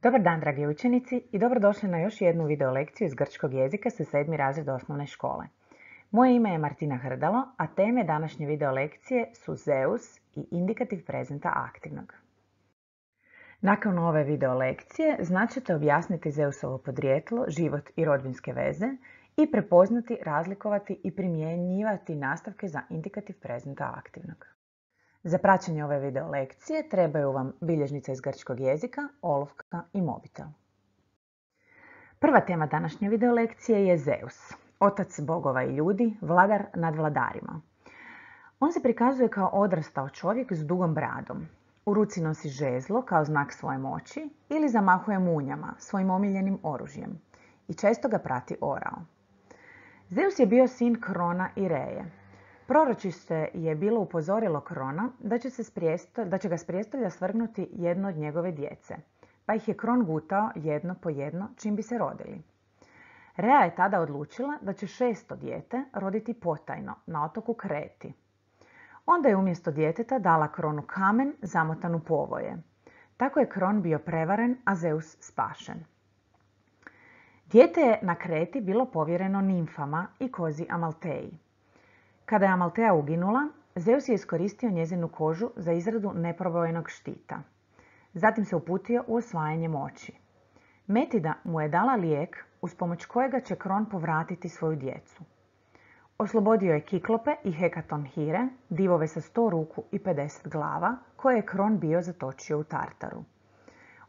Dobar dan, dragi učenici, i dobrodošli na još jednu video lekciju iz grčkog jezika sa 7. razred osnovne škole. Moje ime je Martina Hrdalo, a teme današnje video lekcije su Zeus i indikativ prezenta aktivnog. Nakon ove video lekcije znaćete objasniti Zeusovo podrijetlo, život i rodbinske veze i prepoznati, razlikovati i primjenjivati nastavke za indikativ prezenta aktivnog. Za praćenje ove video lekcije trebaju vam bilježnica iz grčkog jezika, olovka i mobitel. Prva tema današnje video lekcije je Zeus, otac bogova i ljudi, vladar nad vladarima. On se prikazuje kao odrastao čovjek s dugom bradom. U ruci nosi žezlo kao znak svoje moći ili zamahuje munjama, svojim omiljenim oružjem, i često ga prati orao. Zeus je bio sin Krona i Reje. Proročište je bilo upozorilo Krona da će ga s prijestolja svrgnuti jedno od njegove djece, pa ih je Kron gutao jedno po jedno čim bi se rodili. Rea je tada odlučila da će 6. dijete roditi potajno na otoku Kreti. Onda je umjesto djeteta dala Kronu kamen zamotan u povoje. Tako je Kron bio prevaren, a Zeus spašen. Dijete je na Kreti bilo povjereno nimfama i kozi Amalteji. Kada je Amalteja uginula, Zeus je iskoristio njezinu kožu za izradu neprobojenog štita. Zatim se uputio u osvajanje moći. Metida mu je dala lijek uz pomoć kojega će Kron povratiti svoju djecu. Oslobodio je Kiklope i Hekatonhire, divove sa 100 ruku i 50 glava, koje je Kron bio zatočio u Tartaru.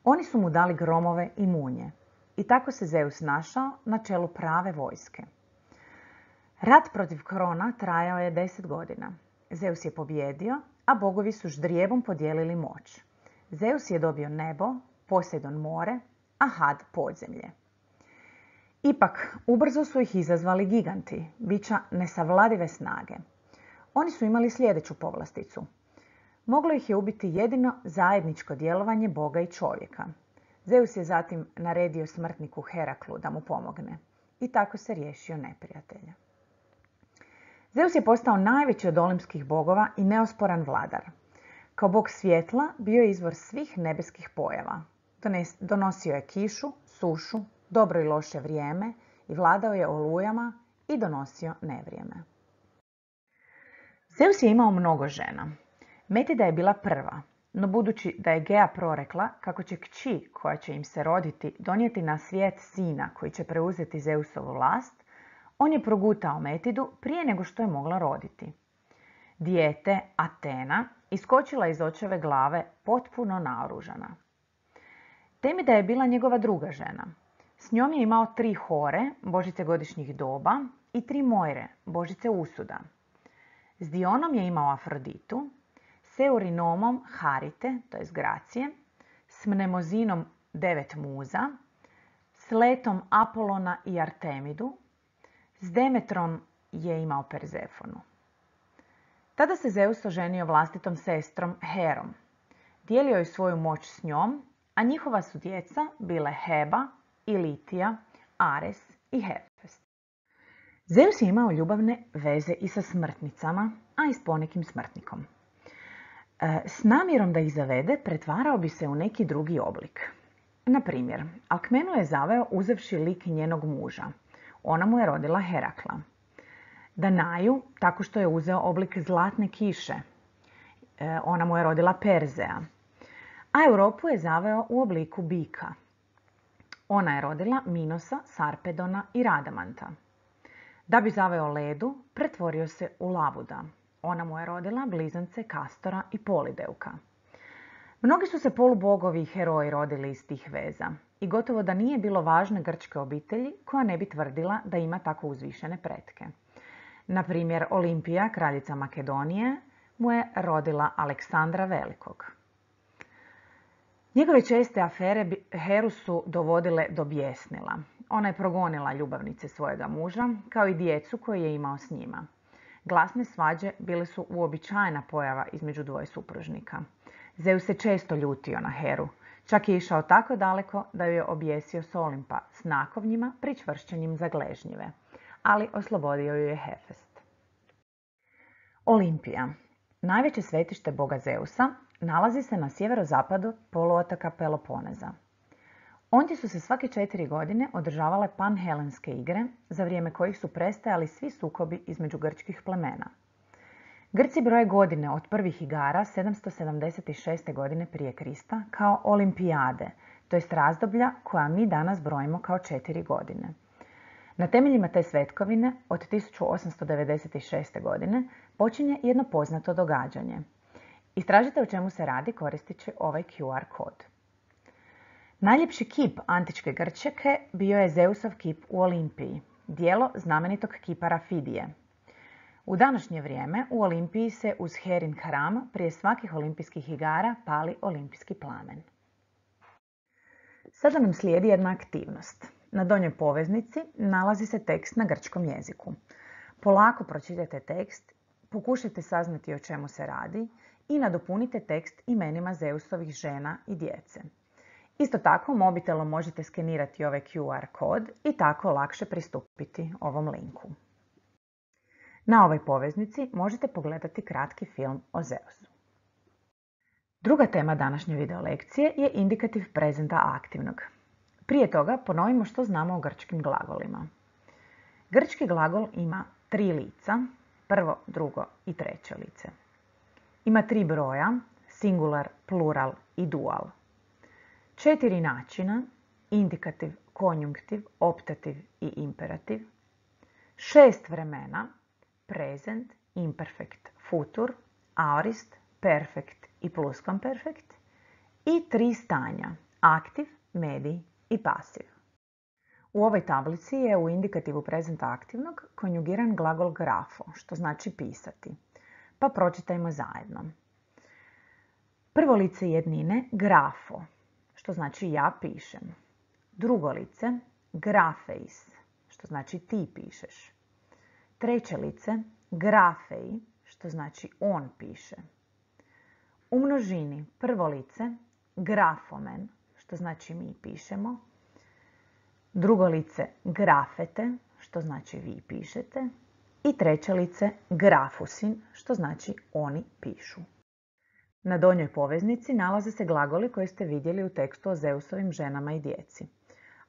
Oni su mu dali gromove i munje. I tako se Zeus našao na čelu prave vojske. Rat protiv Krona trajao je 10 godina. Zeus je pobjedio, a bogovi su ždrijebom podijelili moć. Zeus je dobio nebo, Poseidon more, a Had podzemlje. Ipak, ubrzo su ih izazvali giganti, bića nesavladive snage. Oni su imali sljedeću povlasticu. Moglo ih je ubiti jedino zajedničko djelovanje Boga i čovjeka. Zeus je zatim naredio smrtniku Heraklu da mu pomogne i tako se riješio neprijatelja. Zeus je postao najveći od olimpskih bogova i neosporan vladar. Kao bog svjetla bio je izvor svih nebeskih pojava. Donosio je kišu, sušu, dobro i loše vrijeme i vladao je olujama i donosio nevrijeme. Zeus je imao mnogo žena. Metida je bila prva, no budući da je Gea prorekla kako će kći koja će im se roditi donijeti na svijet sina koji će preuzeti Zeusovu vlast, on je progutao Metidu prije nego što je mogla roditi. Dijete, Atena, iskočila iz očeve glave potpuno naoružana. Temida je bila njegova druga žena. S njom je imao 3 Hore, božice godišnjih doba, i 3 Mojre, božice usuda. S Dionom je imao Afroditu, s Eurinomom Harite, to je Gracije, s Mnemozinom 9 muza, s Letom Apolona i Artemidu, s Demetrom je imao Perzefonu. Tada se Zeus oženio vlastitom sestrom Herom. Dijelio je svoju moć s njom, a njihova su djeca bile Heba i Litija, Ares i Hefest. Zeus je imao ljubavne veze i sa smrtnicama, a i s ponekim smrtnikom. S namjerom da ih zavede, pretvarao bi se u neki drugi oblik. Na primjer, Alkmenu je zaveo uzevši lik njenog muža. Ona mu je rodila Herakla. Danaju, tako što je uzeo oblik zlatne kiše. Ona mu je rodila Perzea. A Europu je zaveo u obliku bika. Ona je rodila Minosa, Sarpedona i Radamanta. Da bi zaveo Ledu, pretvorio se u Labuda. Ona mu je rodila blizance Kastora i Polideuka. Mnogi su se polubogovi i heroji rodili iz tih veza i gotovo da nije bilo važne grčke obitelji koja ne bi tvrdila da ima tako uzvišene pretke. Na primjer, Olimpija, kraljica Makedonije, mu je rodila Aleksandra Velikog. Njegove česte afere Heru su dovodile do bijesnila. Ona je progonila ljubavnice svojega muža, kao i djecu koju je imao s njima. Glasne svađe bile su uobičajena pojava između dvoje supružnika. Zeus se često ljutio na Heru. Čak je išao tako daleko da ju je objesio s Olimpa s nakovnjima pričvršćenim za gležnjive. Ali oslobodio ju je Hefest. Olimpija, najveće svetište boga Zeusa, nalazi se na sjeverozapadu poluotoka Peloponeza. Ondje su se svake 4 godine održavale panhelenske igre, za vrijeme kojih su prestajali svi sukobi između grčkih plemena. Grci broje godine od prvih igara 776. godine prije Krista kao olimpijade, to jest razdoblja koja mi danas brojimo kao 4 godine. Na temeljima te svetkovine od 1896. godine počinje jedno poznato događanje. Istražite o čemu se radi koristeći ovaj QR kod. Najljepši kip antičke Grčke bio je Zeusov kip u Olimpiji, djelo znamenitog kipara Fidije. U današnje vrijeme u Olimpiji se uz Herin hram prije svakih olimpijskih igara pali olimpijski plamen. Sada nam slijedi jedna aktivnost. Na donjoj poveznici nalazi se tekst na grčkom jeziku. Polako pročitajte tekst, pokušajte saznati o čemu se radi i nadopunite tekst imenima Zeusovih žena i djece. Isto tako, mobitelom možete skenirati ovaj QR kod i tako lakše pristupiti ovom linku. Na ovoj poveznici možete pogledati kratki film o Zeusu. Druga tema današnje video lekcije je indikativ prezenta aktivnog. Prije toga ponovimo što znamo o grčkim glagolima. Grčki glagol ima 3 lica, prvo, drugo i treće lice. Ima 3 broja, singular, plural i dual. 4 načina, indikativ, konjunktiv, optativ i imperativ. 6 vremena, present, imperfect, futur, aorist, perfect i pluskvamperfekt. I 3 stanja, aktiv, medij i pasiv. U ovoj tablici je u indikativu prezenta aktivnog konjugiran glagol grafo, što znači pisati. Pa pročitajmo zajedno. Prvo lice jednine grafo, što znači ja pišem. Drugo lice grafeis, što znači ti pišeš. Treće lice grafei, što znači on piše. U množini prvo lice grafomen, što znači mi pišemo. Drugo lice grafete, što znači vi pišete. I treće lice grafusin, što znači oni pišu. Na donjoj poveznici nalaze se glagoli koje ste vidjeli u tekstu o Zeusovim ženama i djeci.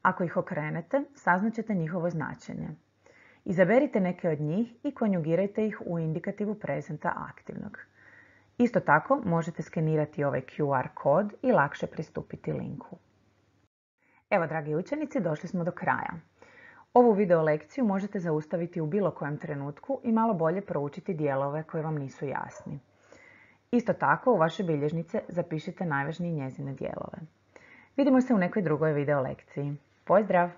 Ako ih okrenete, saznaćete njihovo značenje. Izaberite neke od njih i konjugirajte ih u indikativu prezenta aktivnog. Isto tako možete skenirati ovaj QR kod i lakše pristupiti linku. Evo, dragi učenici, došli smo do kraja. Ovu video lekciju možete zaustaviti u bilo kojem trenutku i malo bolje proučiti dijelove koji vam nisu jasni. Isto tako, u vaše bilježnice zapišite najvažnije njezine dijelove. Vidimo se u nekoj drugoj video lekciji. Pozdrav!